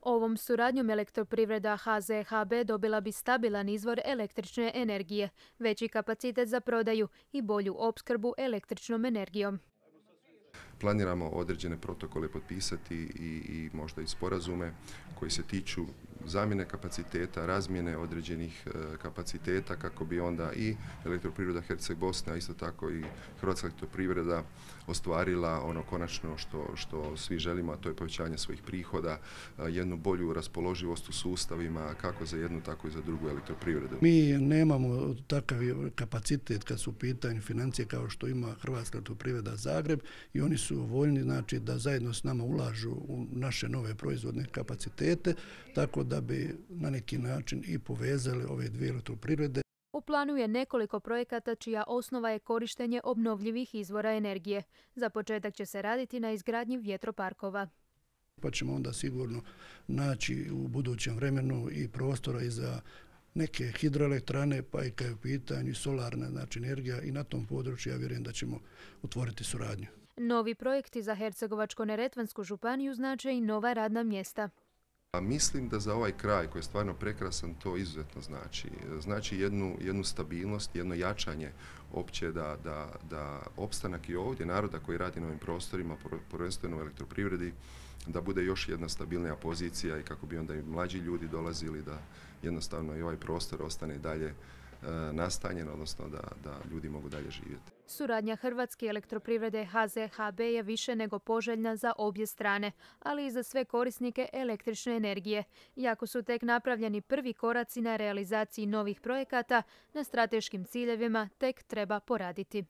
Ovom suradnjom elektroprivreda HZHB dobila bi stabilan izvor električne energije, veći kapacitet za prodaju i bolju opskrbu električnom energijom. Planiramo određene protokole potpisati i možda i sporazume koji se tiču zamjene kapaciteta, razmjene određenih kapaciteta kako bi onda i elektroprivreda Herceg-Bosne, a isto tako i Hrvatska elektroprivreda ostvarila ono konačno što svi želimo, a to je povećanje svojih prihoda, jednu bolju raspoloživost u sustavima kako za jednu tako i za drugu elektroprivredu. Mi nemamo takav kapacitet kad su u pitanju financije kao što ima Hrvatska elektroprivreda Zagreb i oni su voljni znači da zajedno s nama ulažu u naše nove proizvodne kapacitete, tako da bi na neki način i povezali ove dvije elektroprivrede. U planu je nekoliko projekata čija osnova je korištenje obnovljivih izvora energije. Za početak će se raditi na izgradnji vjetroparkova. Pa ćemo onda sigurno naći u budućem vremenu i prostora i za neke hidroelektrane, pa i kad je u pitanju solarna znači energija i na tom području ja vjerujem da ćemo otvoriti suradnju. Novi projekti za Hercegovačko-neretvansku županiju znače i nova radna mjesta. A mislim da za ovaj kraj koji je stvarno prekrasan to izuzetno znači. Znači jednu stabilnost, jedno jačanje opće da opstanak i ovdje naroda koji radi na ovim prostorima, prvenstveno u elektroprivredi, da bude još jedna stabilnija pozicija i kako bi onda i mlađi ljudi dolazili da jednostavno i ovaj prostor ostane dalje nastanjen, odnosno da ljudi mogu dalje živjeti. Suradnja Hrvatske elektroprivrede HZHB je više nego poželjna za obje strane, ali i za sve korisnike električne energije. Iako su tek napravljeni prvi koraci na realizaciji novih projekata, na strateškim ciljevima tek treba poraditi.